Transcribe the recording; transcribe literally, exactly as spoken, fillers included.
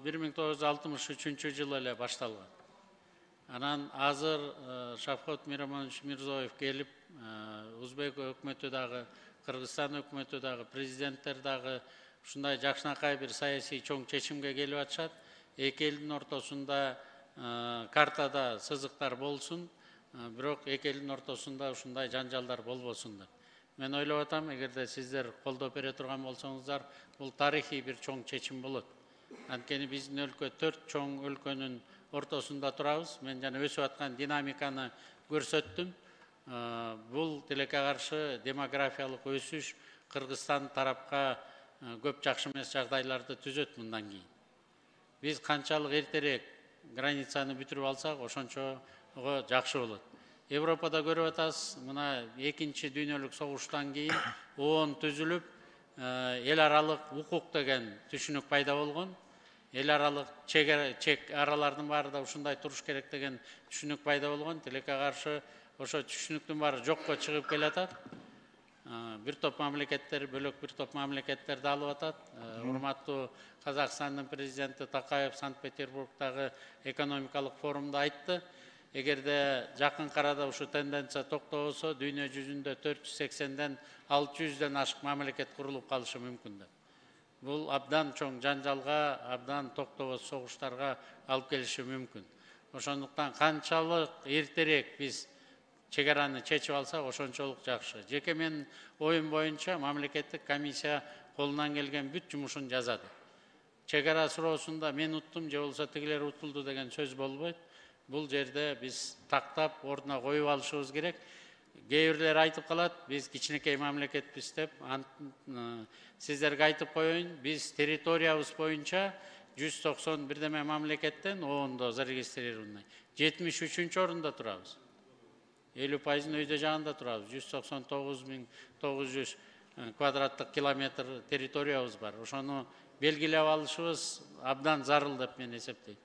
бир миң тогуз жүз алтымыш үчүнчү жылы эле башталган. Анан азыр Шавкат Миромонович Мирзиёев келип, Узбек өкмөтү дагы, Кыргызстан өкмөтү дагы, президенттер дагы ушундай жакшынакай бир саясий чоң чечимге келип атышат. Эки элдин ортосунда картада сызыктар болсун, бирок эки элдин ортосунда ушундай жанжалдар болбосун деп. Мен ойлоп атам, эгерде сиздер колдоп бере турган болсоңуздар, бул тарыхый бир чоң чечим болот. Анткени биздин өлкө төрт чоң өлкөнүн ортосунда турабыз. Мен жана өсүп аткан динамиканы көрсөттүм. Бул тилекке каршы демографиялык өсүш Кыргызстан тарапка көп жакшы эмес жагдайларды түзөт мындан кийин. Биз канчалык эртерээк границаны бүтүрүп алсак, ошончого жакшы болот. Европада көрүп атасыз, мына экинчи дүйнөлүк согуштан кийин оон түзүлүп, эл аралык укук деген түшүнүк пайда болгон. Эл аралык чек аралардын баары да ушундай туруш керек деген түшүнүк пайда болгон. Тилекке каршы ошо түшүнүктүн баары жокко чыгып келатат. Бир топ мамлекеттер, бөлөк бир топ мамлекеттерди алып атат. Урматтуу Казакстандын президенти Такаев Санкт-Петербургдагы экономикалык форумда айтты. Эгерде жакын арада ушу тенденция токтобосо, дүйнө жүзүндө төрт жүз сексенден алты жүздөн ашык мамлекет курулуп калышы мүмкүн деп. Бул абдан чоң жанжалга, абдан токтобос согуштарга алып келиши мүмкүн. Ошондуктан канчалык эртерээк биз чек араны чечип алсак, ошончолук жакшы. Жеке менин оюм боюнча мамлекеттик комиссия колунан келген бүт жумушун жазады. Чек ара суроосунда мен уттум же болбосо тигилер утулду деген сөз болбойт. Бул жерде биз тактап, ордуна коюп алышыбыз керек. Кээ бирлер айтып калат, биз кичинекей мамлекетпиз деп. Сиздерге айтып коеюн, биз территориябыз боюнча жүз токсон бирдеме мамлекеттен оондо зарегистрированный. жетимиш үчүнчү орунда турабыз. элүү пайызын өйдө жагында турабыз. жүз токсон тогуз миң тогуз жүз квадраттык километр территориябыз бар. Ошону белгилеп алышыбыз абдан зарыл деп мен эсептейм.